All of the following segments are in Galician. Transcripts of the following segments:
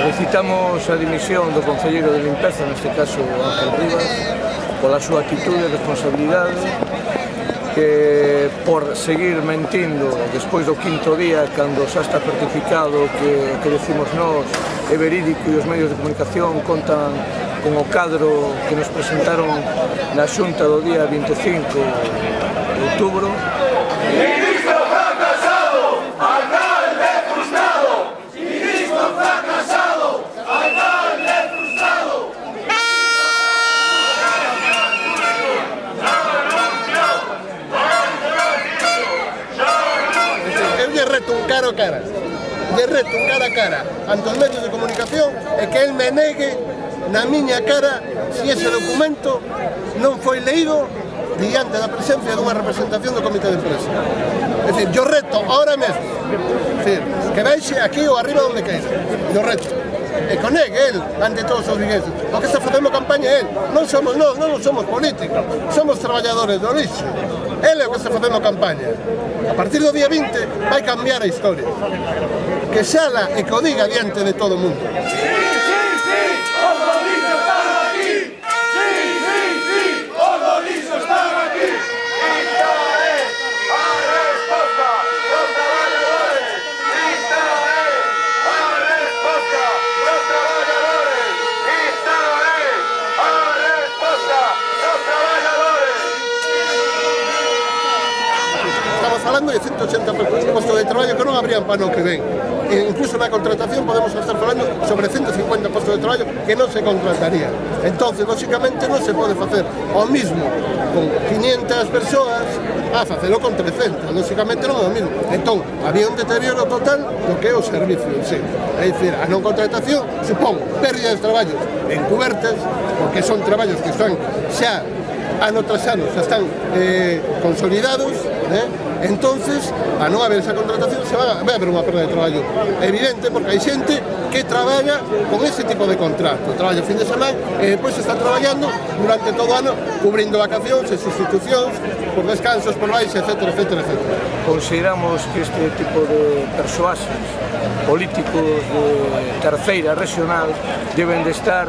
Solicitamos a dimisión do concelleiro de limpeza, neste caso Ángel Rivas, pola súa actitude e responsabilidade, que por seguir mentindo despois do quinto día, cando xa está certificado que o que decimos nós é verídico e os medios de comunicación contan con o cadro que nos presentaron na xunta do día 25 de outubro. Reto un cara a cara, de reto un cara a cara ante os medios de comunicación e que el me negue na miña cara se ese documento non foi leído diante da presencia dunha representación do comité de empresa. É dicir, yo reto ahora mesmo, que veixe aquí ou arriba onde queira, yo reto. E con él, ante todos os vigueses. O que está facendo campaña é él, non somos nós, non somos políticos, somos traballadores do lixo. Él é o que está facendo campaña. A partir do día 20 vai cambiar a historia. Que xala e que o diga diante de todo o mundo. Falando de 180 postos de traballo que non habrían para no que ven. E incluso na contratación podemos estar falando sobre 150 postos de traballo que non se contrataría. Entonces, lógicamente, non se pode facer o mismo con 500 persoas a facelo con 300. Lógicamente non é o mismo. Entón, había un deterioro total do que é o servicio en sí. É dicir, a non contratación supón pérdida de traballos encubertas, porque son traballos que están xa ano tras ano, xa están consolidados, entonces, a non haber esa contratación, vai haber unha perda de traballo evidente, porque hai xente que traballa con ese tipo de contrato, traballa fin de semana e depois está traballando durante todo o ano, cubrindo vacacións e sustitucións por descansos, por baixa, etc. Consideramos que este tipo de persoaxes políticos de terceira regional deben de estar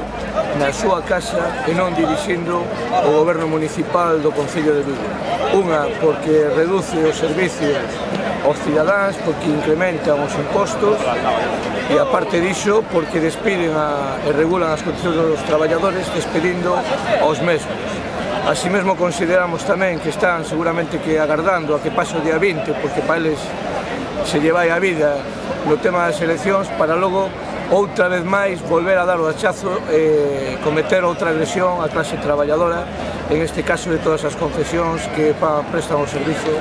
na súa casa e non dirixindo o goberno municipal do Concello de Vigo. Unha, porque reduce os servicios aos cidadáns, porque incrementan os impostos e, aparte diso, porque despiden e regulan as condicións dos traballadores despedindo aos mesmos. Así mesmo consideramos tamén que están seguramente que agardando a que pase o día 20, porque para eles se lle vai a vida no tema das eleccións, para logo outra vez máis volver a dar o hachazo e cometer outra agresión á clase traballadora, en este caso de todas as concesións que prestan o servicio